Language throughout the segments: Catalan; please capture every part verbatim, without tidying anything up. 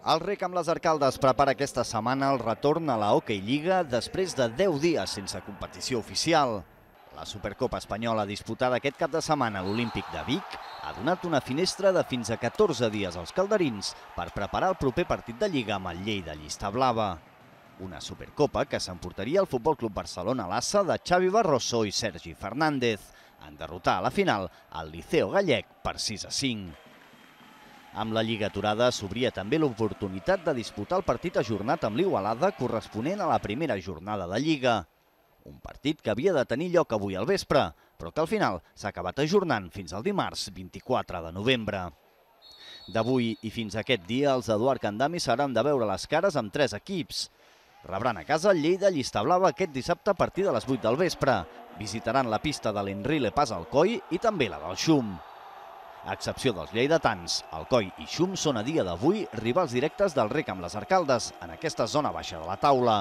El Rec amb les Arcaldes prepara aquesta setmana el retorn a la Hockey Lliga després de deu dies sense competició oficial. La Supercopa Espanyola disputada aquest cap de setmana a l'Olímpic de Vic ha donat una finestra de fins a catorze dies als calderins per preparar el proper partit de Lliga amb el Lleida Llista Blava. Una Supercopa que s'emportaria el Futbol Club Barcelona Lassa de Xavi Barroso i Sergi Fernández en derrotar a la final el Liceo Gallec per sis a cinc. Amb la Lliga aturada s'obria també l'oportunitat de disputar el partit ajornat amb l'Igualada corresponent a la primera jornada de Lliga. Un partit que havia de tenir lloc avui al vespre, però que al final s'ha acabat ajornant fins al dimarts vint-i-quatre de novembre. D'avui i fins aquest dia, els Eduard Candami s'hauran de veure les cares amb tres equips. Rebran a casa el Lleida Llista Blava aquest dissabte a partir de les vuit del vespre. Visitaran la pista de l'Enrile Pas Alcoi i també la del Xum. A excepció dels lleidatans, Alcoi i Xum són a dia d'avui rivals directes del Rec amb les Arcaldes en aquesta zona baixa de la taula.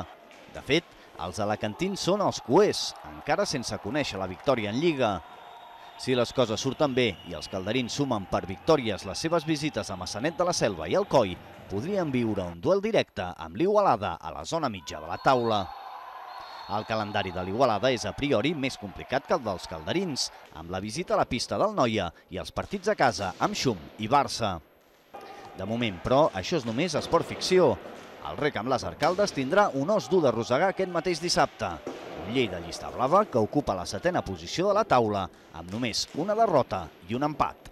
De fet, els alacantins són els cuers, encara sense conèixer la victòria en Lliga. Si les coses surten bé i els calderins sumen per victòries les seves visites a Maçanet de la Selva i Alcoi, podrien viure un duel directe amb l'Igualada a la zona mitja de la taula. El calendari de l'Igualada és a priori més complicat que el dels calderins, amb la visita a la pista del Noia i els partits a casa amb Xum i Barça. De moment, però, això és només esport ficció. El Rec amb les Arcaldes tindrà un os dur de rosegar aquest mateix dissabte. Un Lleida Llista Blava que ocupa la setena posició de la taula, amb només una derrota i un empat.